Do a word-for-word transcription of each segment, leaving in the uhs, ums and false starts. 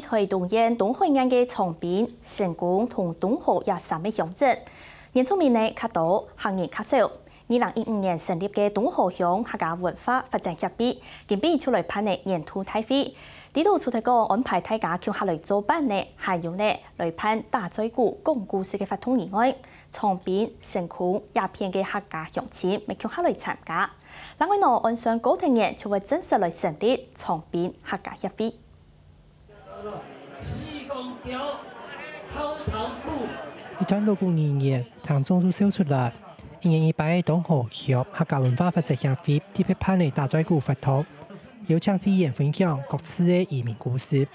臺東縣東海岸个長濱、成功同東河這三个鄉鎮，原住民呢較多，客人較少。二零一五年成立个東河鄉客家文化發展協會，今晡日就來辦理年度大會。這度除忒講安排大家共下來做伴呢，還有呢來辦打嘴鼓、講故事个活動以外，長濱、成功這片个客家鄉親乜共下來參加。另外呢，按算過忒年就會正式來成立長濱客家協會。 一段老古人言，聽眾就笑出來。一年一擺个東河鄉客家文化發展協會特別辦个打嘴鼓活動，邀請會員分享各自个移民故事。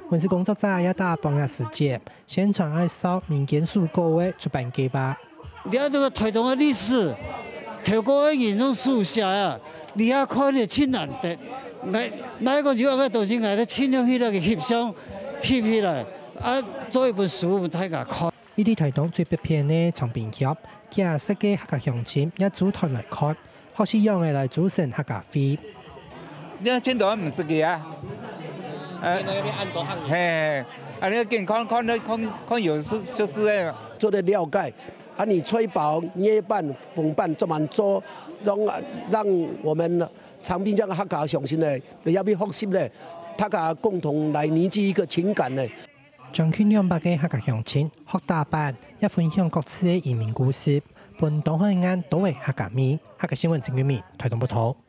文字工作者也打半夜時間，宣傳愛紹民間手稿个出版計畫。 了解這个臺東个歷史，透過个人用書寫啊，你也看了真難得。𠊎，𠊎講有个東西，𠊎都盡量去那个翕相，翕起來，啊，做一本書分大家看。位在臺東最北片个長濱鄉，幾下十个客家鄉親也組團來看，學習仰仔來組成客家會。你看，全部毋識个啊。呃，嘿，嘿，啊，你看，看，看，看，看有識，識字个。做得了解， 啊，你炊包、艾粄、紅粄做滿做，讓，讓我們長濱這个客家鄉親呢，也要學習呢，大家共同來凝聚一个情感呢。將近兩百个客家鄉親學打粄，也分享各自个移民故事，分東海岸多个客家味。客家新聞陳俊明，臺東報導。